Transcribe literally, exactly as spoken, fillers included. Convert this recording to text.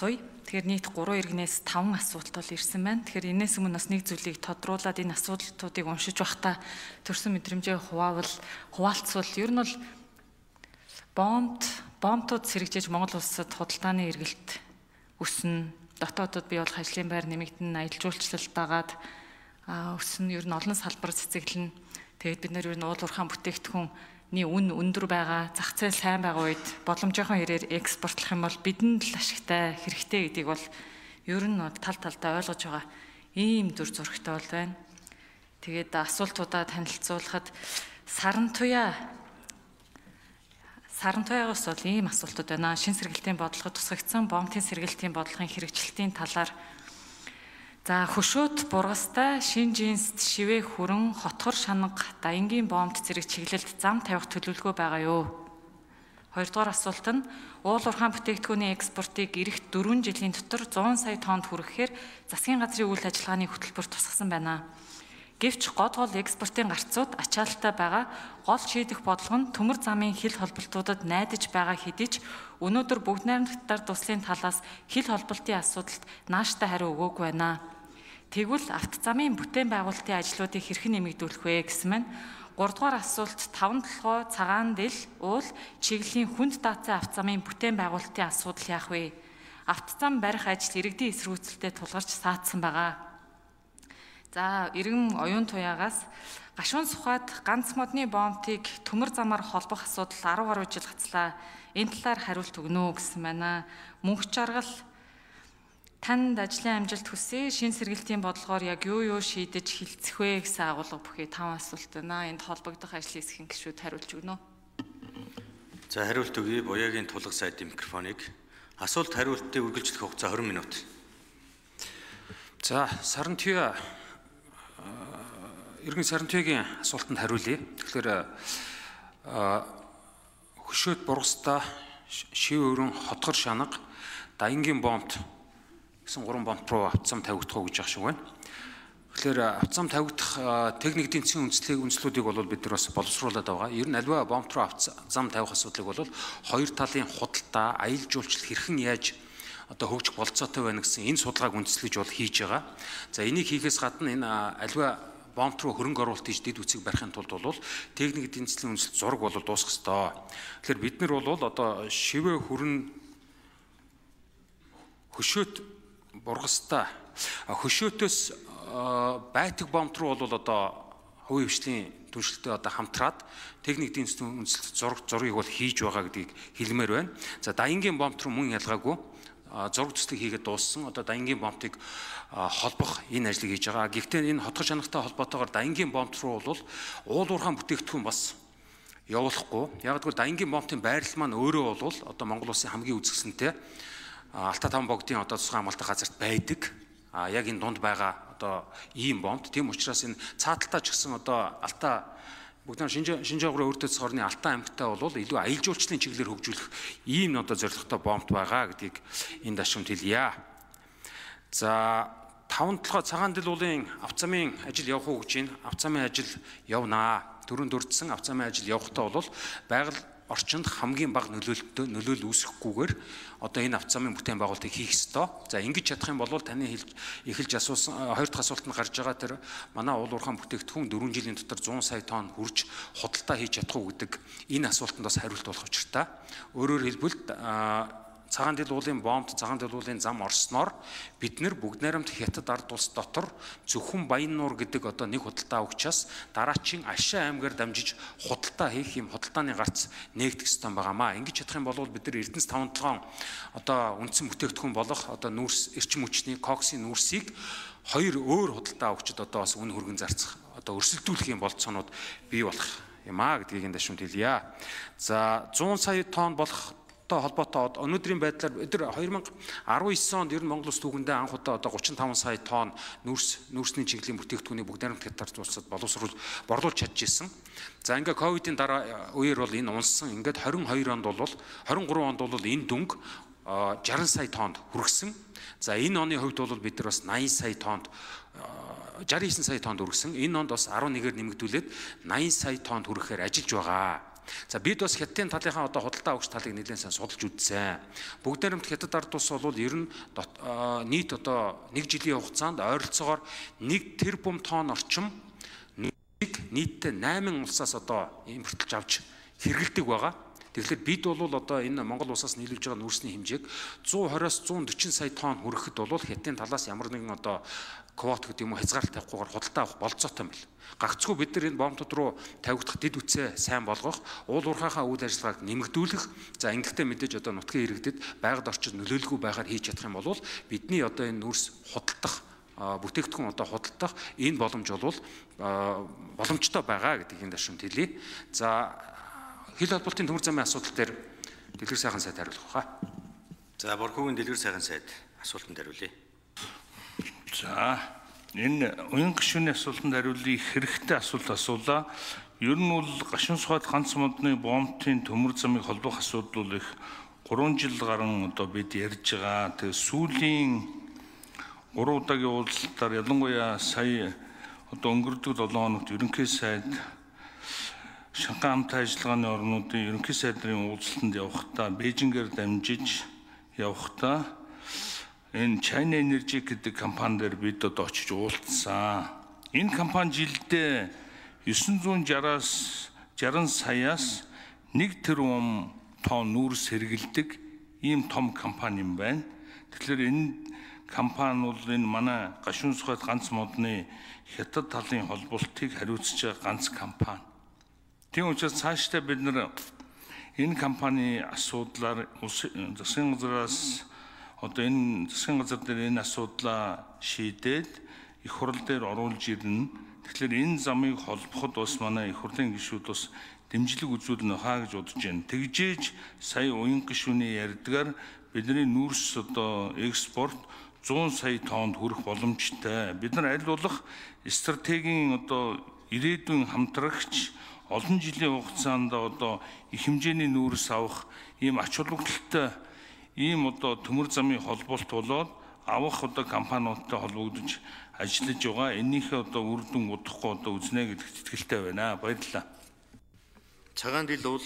асууя. Тэгэхээр нийт гурван иргэнээс таван асуулт бол ирсэн байна. Тэгэхээр энэс өмнө бас нэг зүйлийг тодруулаад энэ асуултуудыг уншиж байхдаа төрсэн мэдрэмжээ хуваавал хуваалцвал ер нь бол бомбд бомбтууд сэргэжээж Монгол улсад худалдааны эргэлт өснө. Дотоодод бий болох ажлын байр нэмэгдэн, аялал жуулчлалт дагаад өснө. Ер нь олон салбар цэцэглэн. Тэгээд бид нэр ер нь уул уурхайн бүтээгдэхүүнний үн өндөр байгаа, зах зээл сайн байгаа үед боломжийнхоо хэрээр экспортлох юм бол бидэнд л ашигтай, хэрэгтэй гэдгийг бол ер нь тал талдаа ойлгож байгаа ийм дүр зурагтай бол байна. Тэгээд асуултуудаа танилцуулахад Сарантуяа Сарантуягаас бол ийм асуултууд байна. Шин сэргэлтийн бодлогод тусгагдсан бомбын сэргэлтийн бодлогын хэрэгжилтийн талаар за хөшөөт бургастай шин жинст шивээ хүрэн хотгор шанга дайнгийн бомбд зэрэг чиглэлд зам тавих төлөвлөгөө байгаа юу? Хоёрдугаар асуулт нь уул уурхайн бүтээгдэхүүний экспортыг эх дөрвөн жилийн дотор зуун сая тоннд хүрэхээр засгийн газрын үйл ажиллагааны хөтөлбөр тусгасан байна. Гэвч гол гол экспортын гарцууд ачаалттай байгаа. Гол шийдэх бодлого нь төмөр замын хил холболтуудад найдаж байгаа хэдий ч өнөөдөр бүгд найрамдагтар туслын талаас хил холболтын асуудалд нааштай хариу өгөөгүй байна. Тэгвэл автозамын бүтээн байгуулалтын ажлуудыг хэрхэн нэмэгдүүлэх вэ гэсэн мань. Гуравдугаар асуулт таван толгой цагаан дэл уул чиглэлийн хүнд даацсан автозамын бүтээн байгуулалтын асуудал яах вэ? Автозам барих ажил иргэдийн эсэргүүцэлтэд тулгарч саатсан байгаа. За иргэн оюун туяагаас гашуун сухад ганц модны бомбыг төмөр замаар холбох асуудал арав гаруй жил гацлаа. Энэ талаар хариулт өгнө гэсэн байна. Мөнх жаргал танд ажлын амжилт хүсье. Шин сэргэлтийн бодлогоор яг юу юу шийдэж хилцэх вэ гэсэн агуулга бүхий таван асуулт байна. Энд холбогдох ажлын хэсгийн гишүүд хариулж өгнө. За хариулт өгье. Буяагийн тулга сайдын микрофоныг. Асуулт хариултыг үргэлжлэх хугацаа двадцать минут. За Сарантуяа Иргэн Сарантуяагийн асуултанд хариулъя. Тэгэхээр хөшөөт бургастай шив өрөн хотгор шанга дайнгийн бомбд гэсэн гурван бомб руу автозам тавигдах уу гэж ах шиг байна. Тэгэхээр автозам тавигдах техник эдийн засгийн үндслийг үндслүүдийг бол бид нар бас боловсруулад байгаа. Ер нь альва бомб руу автозам тавих асуудлыг бол хоёр талын худалдаа, аялал жуулчлал хэрхэн яаж одоо хөгжих болцоотой байна гэсэн энэ судалгааг үндэслэж бол хийж байгаа. За энийг хийхээс гадна энэ альва бомб руу хөрөнгө оруулалт хийж дэд үцийг барихын тулд бол техник эдийн засгийн үндэслэл зураг бол дуусах ёстой. Тэгэхээр бид нар бол одоо шивээ хүрэн хөшөөт бургастай хөшөөтөөс байтаг бомб руу бол одоо хувийн хвшлийн түншлэлтэй одоо хамтраад техник эдийн засгийн үндэслэл зураг зургийг бол хийж байгаа гэдгийг хэлмээр байна. За дайнгийн бомб руу мөн ялгаагүй зураг төслийг хийгээд дууссан. Одоо дайнгийн бомбыг холбох энэ ажлыг хийж байгаа. Гэхдээ энэ хотгор шанагтай холбоотойгоор дайнгийн бомб руу бол уул уурхайн бүтээгдэхүүн бас явуулахгүй. Яг гэвэл дайнгийн бомбын байрлал маань өөрөө бол одоо Монгол улсын хамгийн үзэсгэлэнтэй Алтай таван богдын одоо тусгай амгалтай газарт байдаг. А яг энэ дунд байгаа одоо ийм бомб. Тийм учраас энэ цааталтаа ч гэсэн одоо Алтай бүгд Шинжаагуурын өртөц хорны Алтай аймагтай бол илүү аялал жуулчлалын чиглэлээр хөгжүүлэх ийм одоо зорилготой бомб байгаа гэдгийг энэ дашрамд хэлье. За таван толгой цагаан дэл уулын автозамын ажил явах уу гэж байна. Автозамын ажил явнаа. Төрөнд дурдсан автозамын ажил явахдаа бол байгаль орчинд хамгийн бага нөлөөлөлтөй нөлөөлөл үүсэхгүйгээр одоо энэ автозамын бүтээн байгуулалтыг хийх ёстой. За ингэж чадах юм бол таны эхэлж асуусан хоёр дахь асуултанд гарч байгаа тэр манай уул уурхайн бүтээгдэхүүн дөрвөн жилийн дотор зуун сая тонн хүрч худалдаа хийж чадах уу гэдэг энэ асуултанд бас хариулт болох учиртай. Өөрөөр хэлбэл цагаан дэл уулын бомбд цагаан дэл уулын зам орсноор бид нэр бүгд найрамд хятад ард улс дотор зөвхөн Баяннуур гэдэг одоо нэг худалдаа өгчээс дараачийн Ашаа аймгаар дамжиж худалдаа хийх юм худалдааны гарц нээгдэх ёстой байгаамаа. Ингэж чадах юм бол бид нар Эрдэнэс таван толгойн одоо үндсэн бүтээгдэхүүн болох одоо нүүрс эрчим хүчний коксын нүүрсийг хоёр өөр худалдаа өгчд одоо бас үн хөргөн зарцах одоо өрсөлдүүлэх юм болцоонууд бий болох юм аа гэдгийг энэ дашрамд хэлье. За зуун сая тонн болох холбоотой өнөөдрийн байдлаар бид хоёр мянга арван девять онд ер нь Монгол улс түүхэндээ анх удаа одоо гучин таван сая тонн нүүрс нүүрсний чиглэлийн бүтээгдэхүүнийг бүгд найрамд хятад улсад боловсруул борлуулж чадчихсан. За ингээ ковидын дараа үеэр бол энэ унссан. Ингээд двадцать two онд бол двадцать three онд бол энэ дүнг sixty сая тоннд хүргэсэн. За энэ оны хувьд бол бид нар бас ninety сая тоннд sixty nine сая тоннд хүргэсэн. Энэ онд бас eleven-ээр нэмэгдүүлээд ninety сая тоннд хүрэхээр ажиллаж байгаа. За бид бас хятадын талынхаа одоо худалдаа авагч талыг нэлээд сайн судалж үзсэн. Бүгд найрамд хятад ард улс бол ер нь нийт одоо нэг жилийн хугацаанд ойролцоогоор нэг тэрбум тонн орчим нийтдээ найман улсаас одоо импортлж авч хэрэгэлдэг байгаа. Тэгэхээр бид бол одоо энэ Монгол улсаас нийлүүлж байгаа нүүрсний хэмжээг зуун двадцоос зуун дөрвөн сая тонн хүрэхэд бол хятадын талаас ямар нэгэн одоо квот гэдэг юм уу хязгаарлалт тавихгүйгээр худалдаа авах болцоотой юм байна. Гагцгүй бид нар энэ бомтууд руу тавигдах дэд үтсээ сайн болгох, уул уурхайхаа үйл ажиллагааг нэмэгдүүлэх, за ингэхдээ мэдээж одоо нутгийн иргэдэд байгаль орчинд нөлөөлгүй байгаар хийж чадах юм бол бидний одоо энэ нүүрс худалдах бүтээгдэхүүн одоо худалдах энэ боломж бол боломжтой байгаа гэдгийг энэ дашунд хэлье. За хил холболтын төмөр замын асуудал дээр дэлгэр сайхан сайд хариулах баха. За Борхогийн дэлгэр сайхан сайд асуултанд хариулъя. За энэ уян гишүүний асуултанд хариулъя. Хэрэгтэй асуулт асуулаа. Ер нь бол гашуун сухад ганц модны бомтын төмөр замыг холбох асуудал бол их гурван жил гарan одоо бид ярьж байгаа. Тэгээ сүүлийн гурван удаагийн уулзалтаар ялангуяа сая одоо өнгөрдөг долоон хоногт ерөнхий сайд Шанхай хамтын ажиллагааны орнуудын ерөнхий сайдрын уулзалтанд явахдаа Бээжингээр дамжиж явахдаа энэ China Energy гэдэг компани дээр бид одоо очиж уулзсан. Энэ компани жилдээ девятьсот шестьдесят саяас нэг тэрбум тонн нүүрс хэрэгэлдэг ийм том компани юм байна. Тэгэхээр энэ компани бол энэ манай гашуун сухад ганц модны хятад талын холболтыг хариуцж байгаа ганц компани. Тийм учраас цаашдаа бид нэр энэ компани асуудлаар засгийн газраас одоо энэ засгийн газар дээр энэ асуудлаа шийдээд их хурл дээр оруулж ирнэ. Тэгэхээр энэ замыг холбоход бас манай их хурлын гишүүд бас дэмжлэг үзүүлнэ хаа гэж бодож байна. Тэгжээж сая уян гишүүний ярьдгаар бидний нүүрс одоо экспорт зуун сая тоннд хүрэх боломжтой. Бид нар аль болох стратегийн одоо ирээдүйн хамтрагч олон жилийн хугацаанд одоо их хэмжээний нүүрс авах ийм ач холбогдолтой ийм одоо төмөр замын холболт болоод авах одоо компаниудтай холбогдож ажиллаж байгаа. Энийхээ одоо үр дүн удахгүй одоо үзнэ гэдэгт итгэлтэй байна. Баярлалаа. Цагаан дил бол